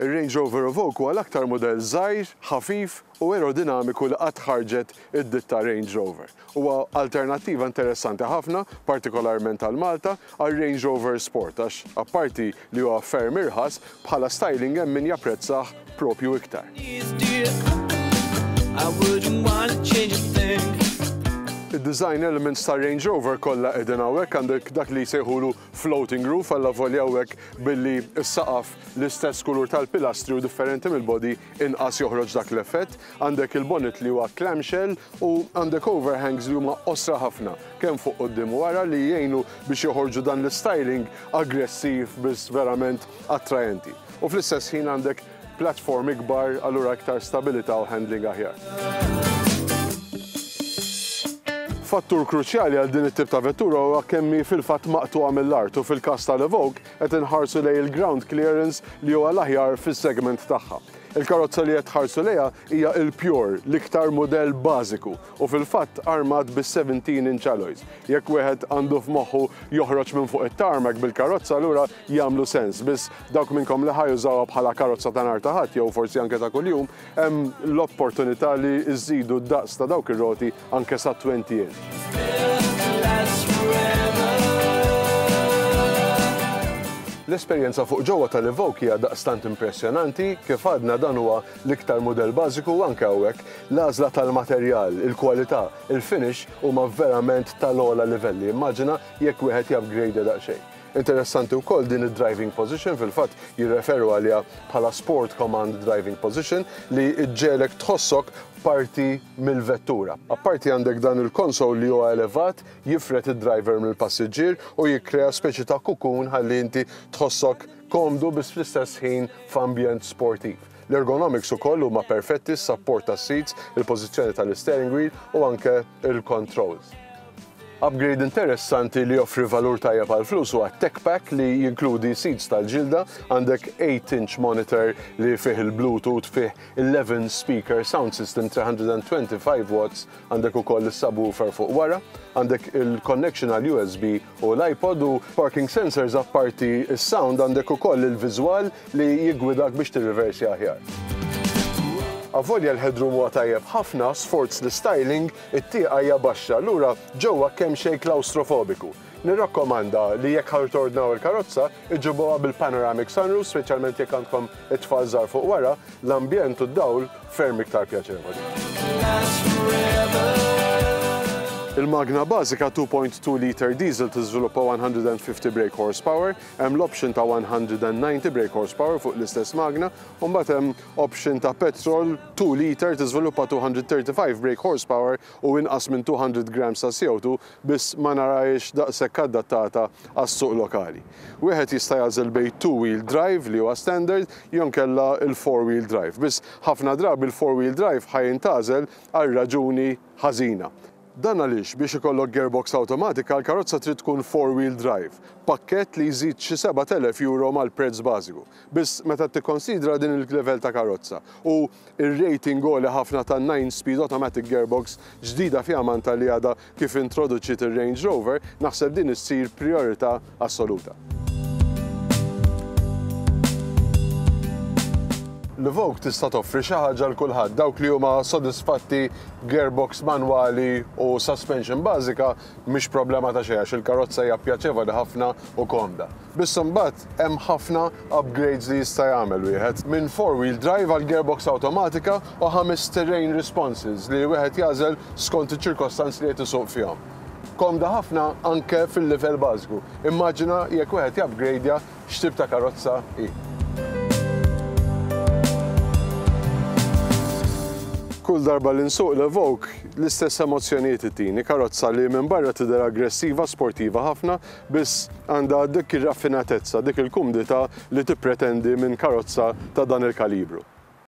Ir-Range Rover Evoque huwa l-aktar mudell żgħir, ħafif u aerodinamiku li qatt ħarġet id-ditta Range Rover. Huwa alternattiva interessanti ħafna, partikolarment għal Malta, għar-Range Rover Sport għax apparti li huwa ferm irħas, bħala styling hemm min japprezzah propju iktar. Id-design elements tar-Range Rover kollha qegħdin hawnhekk, għandek dak li jsejħulu floating roof allavolja hawnhekk billi s-saqaf l-istess kulur tal-pilastri u differenti mill-body inqas joħroġ dak l-effett. Għandek il-bonnet li huwa clamshell u għandek overhangs li huma qosra ħafna kemm fuq quddiem u wara li jgħinu biex joħorġu dan l-istyling aggressiv biss verament attraenti. U fl-istess ħin għandek platform ikbar allura iktar stabilità u handling aħjar. Fattur kruċjali għal din it-tip ta' vettura huwa kemm hi fil-fatt maqtugħa mill-art u fil-każ tal-Evoque qed inħarsu lejn il-ground clearance li huwa l-aħjar fis-segment tagħha. Il-karozza li qed tħarsu lejha hija l-Pure, l-iktar mudell bażiku u fil-fatt armat bi 17 inch alloys. Jekk wieħed għandu f'moħħu joħroġ minn fuq it-tarmac bil-karozza allura jagħmlu sens, biss dawk minnkom li ħa jużawha bħala karozza ta' nhar ta' Ħadd jew forsi anke ta' kuljum, hemm l-opportunità li żżidu d-daqs ta' dawk ir-roti anke sa 20 inch. L-esperjenza fuq ġewwa tal-Evoque hija daqstant impressjonanti, kif għadna dan huwa l-iktar mudell bażiku u anke hawnhekk l-għażla tal-materjal, il-kwalità, il-finish huma verament tal-ogħla livelli. Immaġina jekk wieħed jupgradeja daqsxejn. Interessanti wkoll din id-driving position, fil-fatt jirreferu għaliha bħala Sport Command Driving Position li ġġegħlek tħossok parti mill-vettura. Apparti għandek dan il-console li huwa elevat, jifred id-driver mill-passiġġier u jikkrea speċi ta' cocoon ħalli inti tħossok komdu biss fl-istess ħin f'ambjent sportiv. L-ergonomics ukoll huma perfetti, s-sapport tas-seats, il-pożizzjoni tal-isteering wheel u anke l-controls. Upgrade interessanti li joffri valur tajjeb għall-flus huwa Tech Pack li jinkludi seats tal-ġilda, għandek 8 inch monitor li fih il-Bluetooth, fih 11 speaker sound system 325 watts, għandek ukoll is-subwoofer fuq wara, għandek il-connection għal USB u l-iPod u parking sensors apparti s-sound għandek ukoll il-viżwal li jiggwidak biex tirriversi aħjar. Avolja l-headroom huwa tajjeb ħafna, sforz l-istyling, it-tieqa hija baxxa, allura ġewwa kemxejn klawstrofobiku. Nirrakkomanda li jekk ħa tordnaw il-karozza, iġibuha bil-panoramic sunroof, speċjalment jekk għandkom it-tfal żgħar fuq wara, l-ambjent u d-dawl ferm iktar pjaċevoli. Il-magna bażika 2.2 liter diesel tiżviluppa 150 brake horsepower, hemm l-option ta' 190 brake horsepower fuq l-istess magna, u mbagħad hemm option ta' petrol 2 liter tiżviluppa 235 brake horsepower u inqas minn 200 grams ta' CO2 biss ma narahiex daqshekk adattata għas-suq lokali. Wieħed jista' jagħżel bejn two wheel drive li huwa standard jew inkella l-four wheel drive. Biss ħafna drabi l-four wheel drive ħa jintgħażel għal raġuni ħażina. Dan għaliex biex ikollok gearbox awtomatika l-karozza trid tkun four wheel drive, pakkett li jżid xi 7,000 euro mal-prezz bażiku. Biss meta tikkonsidra din il-level ta' karozza u r-rating għoli ħafna ta' 9 speed automatic gearbox ġdida fjamanta li għadha kif introduċiet ir-Range Rover, naħseb din issir prijorità assoluta. L-Evoque tista' toffri xi ħaġa 'l kulħadd, dawk li huma sodisfatti b'gearbox manwali u suspension bażika mhix problema ta' xejn għax il-karozza hija pjaċevoli ħafna u komda. Biss imbagħad hemm ħafna upgrades li jista' jagħmel wieħed, minn four wheel drive għal gearbox awtomatika u ħames terrain responses li wieħed jagħżel skont iċ-ċirkostanzi li qed isuq fihom. Komda ħafna anke fil-livell bażiku. Immaġina jekk wieħed jupgradja x'tip ta' karozza hi. Kull darba li nsuq l-Evoque, l-istess emozzjonijiet ittini. Karozza li minn barra tidher aggressiva, sportiva ħafna, Biss għandha dik ir-raffinatezza, dik il-kumdità li tippretendi minn karozza ta' dan il-kalibru.